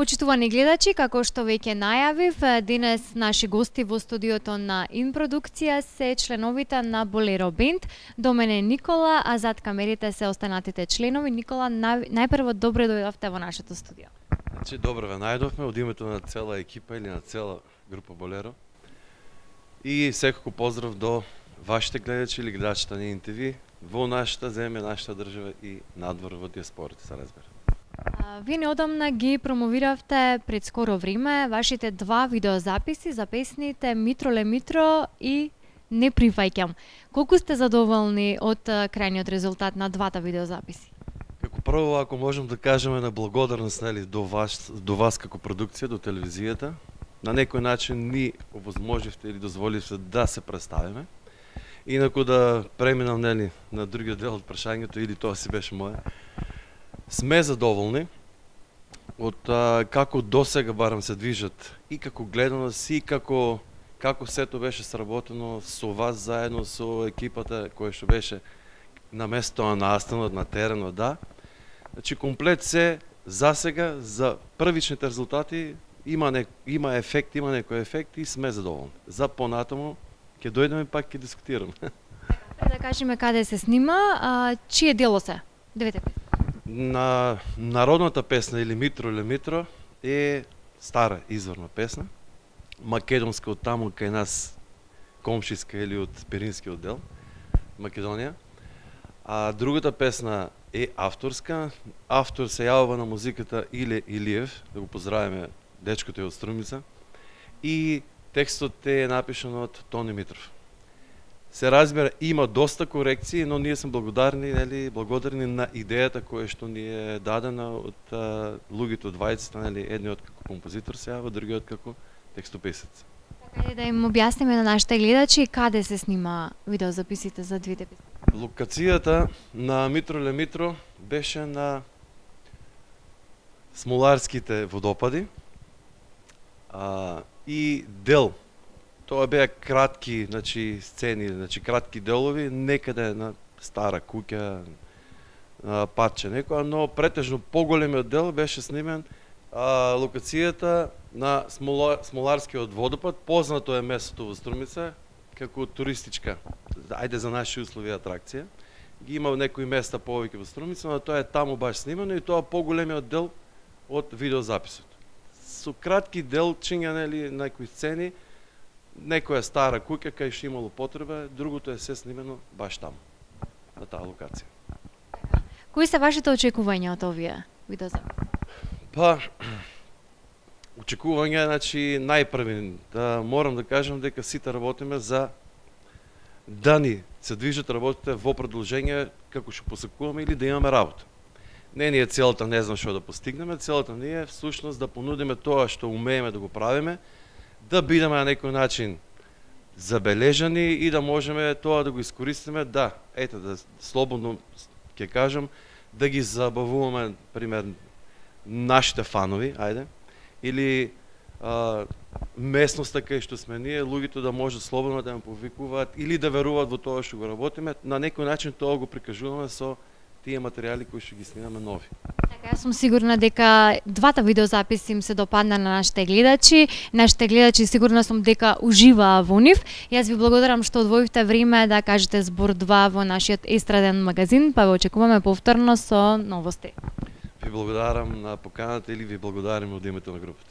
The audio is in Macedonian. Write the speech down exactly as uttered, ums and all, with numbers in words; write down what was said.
Почитувани гледачи, како што веќе најавив, денес наши гости во студиото на Инпродукција се членовите на Болеро Бенд. До мене Никола, а зад камерите се останатите членови. Никола, нај... најпрво добре дојдовте во нашето студио. Значи, добро ве најдовме од името на цела екипа или на цела група Болеро. И секако поздрав до вашите гледачи или гледачите на ИНТВ во нашата земја, нашата држава и надвор во диаспората, се разбира. Вие неодамна ги промовиравте пред скоро време вашите два видеозаписи за песните Митро ле Митро и Не прифаќам. Колку сте задоволни од крајниот резултат на двата видеозаписи? Како прво, ако можем да кажеме на благодарност, нели, до вас, до вас како продукција, до телевизијата, на некој начин ни овозможивте или дозволивте да се представиме. Инаку да преминам, нели, на другиот дел од прашањето, или тоа си беше мое. Сме задоволни од а, како досега барам се движат и како гледаност и како како сето беше сработено со вас заедно со екипата која што беше на местото на настанот, на теренот, да. Значи комплет се засега за првичните резултати има не, има ефект, има некој ефект и сме задоволни. За понатаму ќе дојдеме пак ќе дискутираме. Да кажеме каде се снима, а, чие дело се? Двете песни. На народната песна или Митро ле Митро е стара изворна песна, македонска од таму кај нас, комшиска или од Пиринскиот дел, Македонија. А другата песна е авторска. Автор се јавува на музиката Иле Илиев, да го поздравиме, дечкото е од Струмица. И текстот е напишан од Тони Митров. Се разбира, има доста корекции, но ние сме благодарни, нели, благодарни на идејата која што ни е дадена од а, луѓето од двајцата, нели, едниот како композитор се јава, другиот како текстописец. Така е, да им објасниме на нашите гледачи каде се снима видеозаписите за двете песни. Локацијата на Митро ле Митро беше на Смоларските водопади а, и дел. Тоа беа кратки, значи, сцени, значи, кратки делови, некаде на стара куќа, на парче некоја, но претежно поголемиот дел беше снимен а, локацијата на Смола, Смоларскиот водопад. Познато е местото во Струмица како туристичка, ајде за наши услови атракција. Ги има некои места повеќе во Струмица, но тоа е таму баш снимано и тоа поголемиот дел од видеозаписот. Со кратки делчиња, нели, некои сцени, некоја стара куќа кај што имало потреба, другото е се снимено баш таму, на таа локација. Кои се вашите очекувања од овие видеозаписи? Па, очекувања, значи, најпрви, да морам да кажам дека сите работиме за да ни се движат работите во продолжение како што посакуваме или да имаме работа. Не ни е целата, не знам што да постигнеме, целата ни е всушност да понудиме тоа што умееме да го правиме, да бидеме на некој начин забележани и да можеме тоа да го искористиме, да, ете, да слободно ќе кажам, да ги забавуваме, пример, нашите фанови, ајде, или а, местноста кај што сме ние, луѓето да можат слободно да ме повикуваат или да веруваат во тоа што го работиме, на некој начин тоа го прикажуваме со тие материјали кои што ги снимаме нови. Така, јас сум сигурна дека двата видеозаписи им се допадна на нашите гледачи. Нашите гледачи сигурна сум дека уживаа во нив. Јас ви благодарам што одвоивте време да кажете збор два во нашиот естраден магазин, па ве очекуваме повторно со новости. Ви благодарам на поканата или ви благодарам од името на групата.